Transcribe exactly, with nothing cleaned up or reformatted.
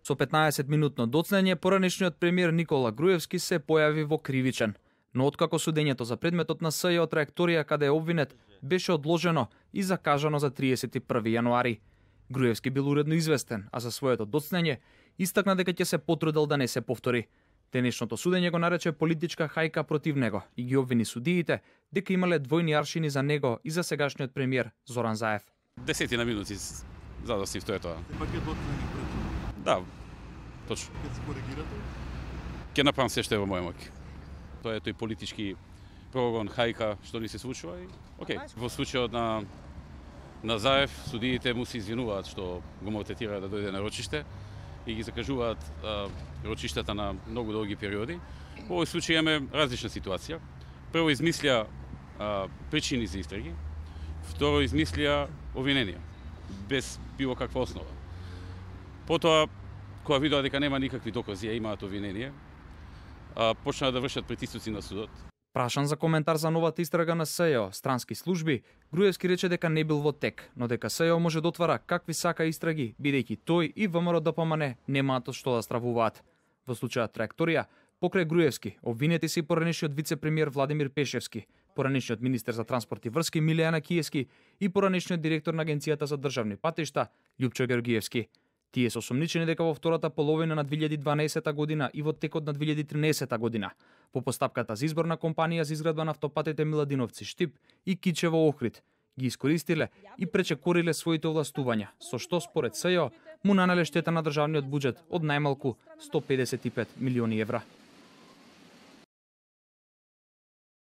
Со петнаесет минутно доцнење, поранешниот премиер Никола Груевски се појави во кривичен. Но откако судењето за предметот на СЈО траекторија каде е обвинет беше одложено и закажано за триесет и први јануари. Груевски бил уредно известен, а за своето доцнење истакна дека ќе се потрудел да не се повтори. Денешното судење го нарече политичка хајка против него и ги обвини судиите дека имале двојни аршини за него и за сегашниот премиер Зоран Заев. Десетина минути задостив, тоа е тоа. Пакет доцнење пред. Да, точно. Ќе се коригирате? Ќе направам се што е во моја моќ. Тоа е тој политички прогон, хајка што ни се случува и окей. Во случајот на на Заев, судиите му се извинуваат што го мотивираат да дојде на рочиште и ги закажуваат а, рочиштата на многу долги периоди. Во овој случај имаме различна ситуација. Прво измислија а, причини за истраги, второ измислија обвиненија без било каква основа. Потоа, кога видоа дека нема никакви докази, а имаат обвинение, а, почнаа да вршат притисоци на судот. Прашан за коментар за новата истрага на СЈО, странски служби, Груевски рече дека не бил во тек, но дека СЈО може да отвара какви сака истраги, бидејќи тој и ВМРО Д П М Н немаат од што да стравуваат. Во случајот траекторија, покрај Груевски, обвинети се и поранешниот вице-премиер Владимир Пешевски, поранешниот министер за транспорт и врски Милијана Киевски и поранешниот директор на Агенцијата за државни патишта Љупчо Георгиевски. Тие се осомничени дека во втората половина на две илјади и дванаесета година и во текот на две илјади и тринаесета година, по постапката за избор на компанија за изградба на автопатите Миладиновци Штип и Кичево Охрид, ги искористиле и пречекориле своите овластувања, со што според СЈО му нанеле штета на државниот буџет од најмалку сто педесет и пет милиони евра.